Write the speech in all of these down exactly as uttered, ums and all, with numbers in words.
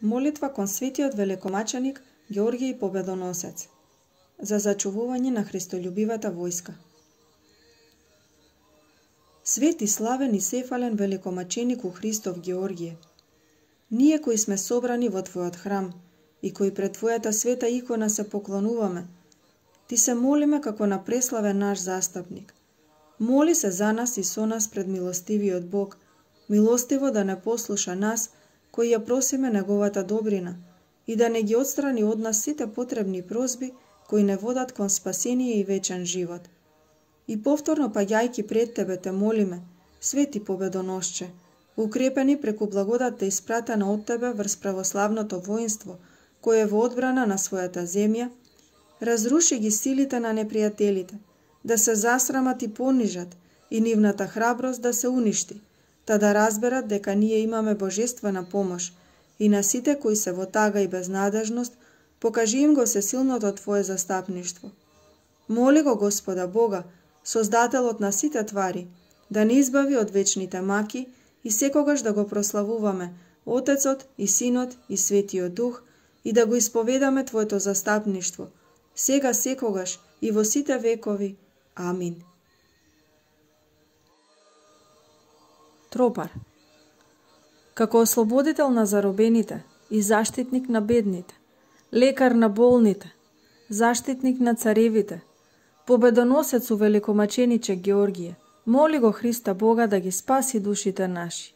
Молитва кон светиот великомаченик Георгиј Победоносец за зачувување на христолюбивата војска. Свети, славен и сефален великомаченику Христов Георгије, ние кои сме собрани во Твојот храм и кои пред Твојата света икона се поклонуваме, Ти се молиме како на преславен наш застапник. Моли се за нас и со нас пред милостивиот Бог, милостиво да не послуша нас, кои ја просиме Неговата добрина, и да не ги отстрани од нас сите потребни прозби, кои не водат кон спасение и вечен живот. И повторно паѓајки пред Тебе те молиме, свети победоносче, укрепени преку благодатта испратена од Тебе врз православното воинство, кое во одбрана на својата земја, разруши ги силите на непријателите, да се засрамат и понижат, и нивната храброст да се уништи, та да разберат дека ние имаме божествена помош, и на сите кои се во тага и безнадежност, покажи им го сесилното Твое застапништво. Моли го Господа Бога, Создателот на сите твари, да ни избави од вечните маки и секогаш да го прославуваме Отецот и Синот и Светиот Дух и да го исповедаме Твоето застапништво, сега секогаш и во сите векови. Амин. Тропар. Како ослободител на заробените и заштитник на бедните, лекар на болните, заштитник на царевите, победоносец у великомачениче Георгије, моли го Христа Бога да ги спаси душите наши.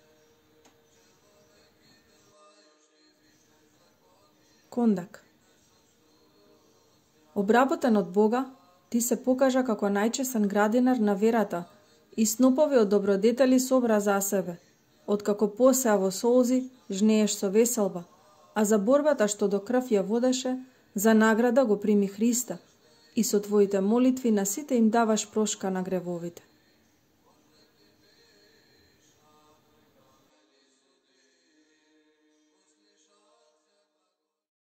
Кондак. Обработен од Бога, ти се покажа како најчесен градинар на верата и снопови од добродетели собра за себе, откако посеа во солзи, жнееш со веселба, а за борбата што до крв ја водеше, за награда го прими Христа и со Твоите молитви на сите им даваш прошка на гревовите.